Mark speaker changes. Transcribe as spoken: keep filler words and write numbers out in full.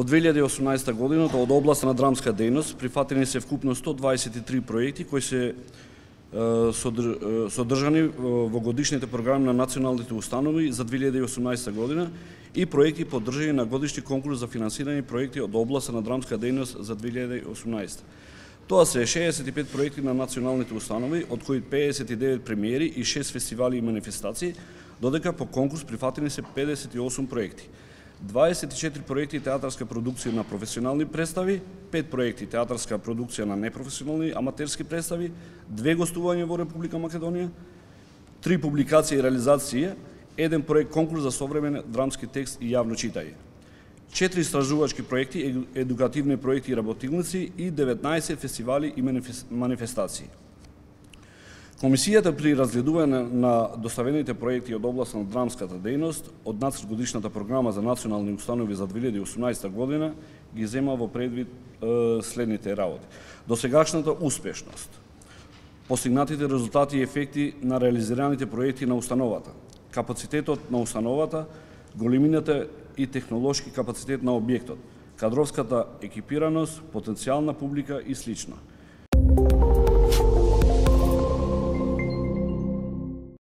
Speaker 1: две илјади и осумнаесета година од областа на драмска дејност прифатени се вкупно сто дваесет и три проекти кои се содржани во годишните програми на националните установи за две илјади и осумнаесета година и проекти поддржани на годишни конкурс за финансирани проекти од областа на драмска дејност за две илјади и осумнаесета. Тоа се шеесет и пет проекти на националните установи, од кои педесет и девет премиери и шест фестивали и манифестации, додека по конкурс прифатени се педесет и осум проекти. дваесет и четири проекти театарска продукција на професионални представи, пет проекти театарска продукција на непрофесионални аматерски представи, две гостувања во Република Македонија, три публикации и реализации, еден проект конкурс за современ драмски текст и јавно читање, четири истражувачки проекти, едукативни проекти и работилници и деветнаесет фестивали и манифестации. Комисијата при разгледување на доставените проекти од област на драмската дејност од нацрт годишната програма за национални установи за две илјади и осумнаесета година ги зема во предвид е, следните работи. Досегашната успешност, постигнатите резултати и ефекти на реализираните проекти на установата, капацитетот на установата, големината и технолошки капацитет на објектот, кадровската екипираност, потенцијална публика и слично.